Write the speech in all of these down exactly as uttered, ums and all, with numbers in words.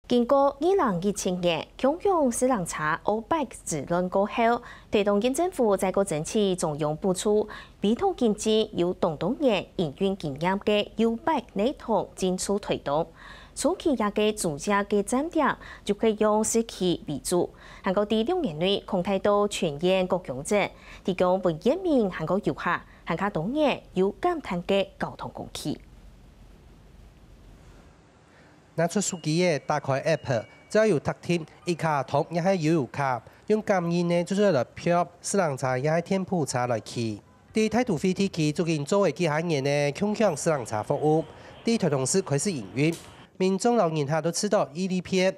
經過二零一七年共享自行車OBike之亂過後，臺東縣政府再過爭取中央補助，委託經濟由當多年營運經驗个U-Bike系統進駐臺東。初期這个租借个站點就係用市區為主，還過在六年內擴大到全縣各鄉鎮，提供分縣民還過遊客還較多元又簡單个交通工具。 拿出手機仔，打開App，只要有特定一卡通也係悠遊卡，用感應仔就做得來票自行車也係電扶車來騎。在大都會地區，最近做个幾下年个共享自行車服務，在臺東市開始營運，民眾摎人客都試著已利便。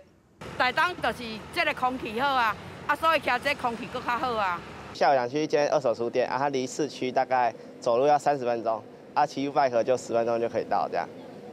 台東就是這个空氣好啊，啊，所以騎這空氣閣較好啊。下午想去一間二手書店，啊，它離市區大概走路要三十分鐘，啊，騎 U-Bike 就十分鐘就可以到，這樣，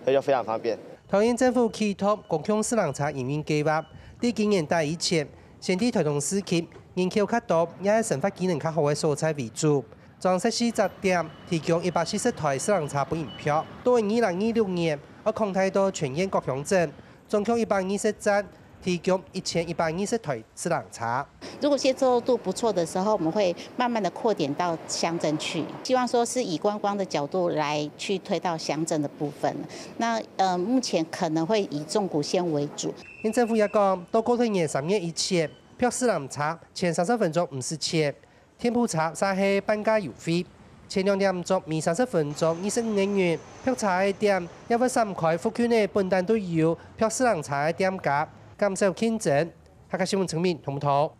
所以就非常方便。桃園政府啟動共享自行車營運計畫，在今年底以前，先在臺東市區人口較多，也係生活機能較好个所在為主，裝設四隻點，提供一百四十台自行車分人票。到二零二六年，愛擴大到全縣各鄉鎮， 總共一百二十站，提供一千一百二十台自行車。如果接受度不錯的時候，我們會慢慢地擴展到鄉鎮去，希望說是以觀光的角度來去推到鄉鎮的部分。那，呃，目前可能會以縱谷線為主。縣政府也講，到過年三月以前，票自行車前三十分鐘毋使錢， 電扶車就係半價優惠，前兩點鐘每三十分鐘二十五個銀，票車个點也會閃開附近个本旦都有票自行車个店家，減少競爭。客家新聞陳明、洪木頭。